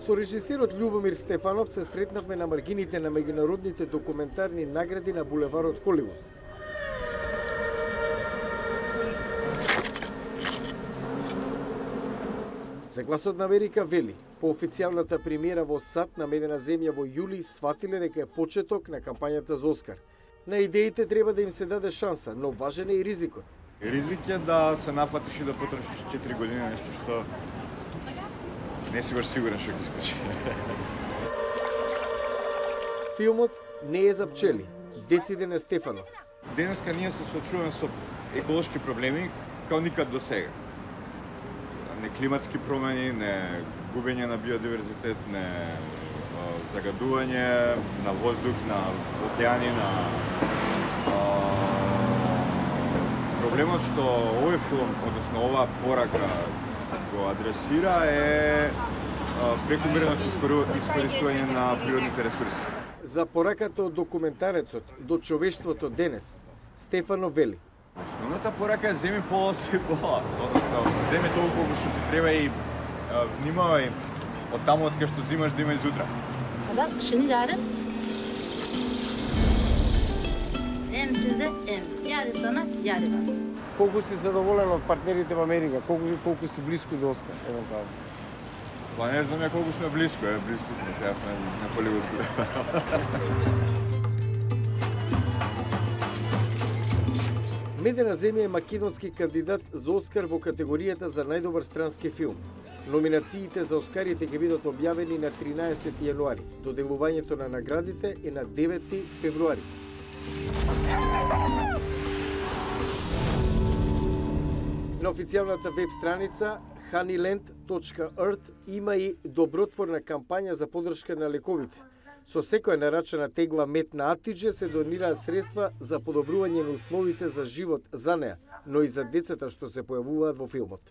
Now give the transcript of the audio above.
Со режисерот Љубомир Стефанов се сретнавме на маргините на меѓународните документарни награди на булеварот Холивуд. За Гласот на Америка вели, по официјалната премиера во САД на Медена земја во јули сватиле дека е почеток на кампањата за Оскар. На идеите треба да им се даде шанса, но важен е и ризикот. Ризик е да се нафатиш и да потрошиш 4 години нешто што не си баш сигурен што ќе скочи. Филмот не е за пчели. Дециде на Стефанов. Денеска ние се соочуваме со еколошки проблеми као никад до сега. Не климатски промени, не губење на биодиверзитет, не загадување на воздух, на океани, на проблемот што овој филм, односно оваа порака го адресира е прекумерното искористување на природните ресурси. За пораката од документарецот до човештвото денес, Стефанов вели. Основната порака е земи пола си пола. Односно, земи толку колку што ти треба и внимавај од таму од кај што зимаш да има и зутра. Bak şimdi yarın. Hem size hem. Yarın sana, yarın bana. Колку си задоволен од партнерите во Америка? Колку си близко до Оскар, евентуално? Па не знам ја колку сме близко, близко сме, сега сме на Холивуд. Медена земја е македонски кандидат за Оскар во категоријата за најдобар странски филм. Номинациите за Оскарите ќе бидат објавени на 13 јануари. Доделувањето на наградите е на 9 февруари. На официјалната веб страница honeyland.earth има и добротворна кампања за подршка на лековите. Со секоја нарачана тегла мед на Атидже се донираат средства за подобрување на условите за живот за неа, но и за децата што се појавуваат во филмот.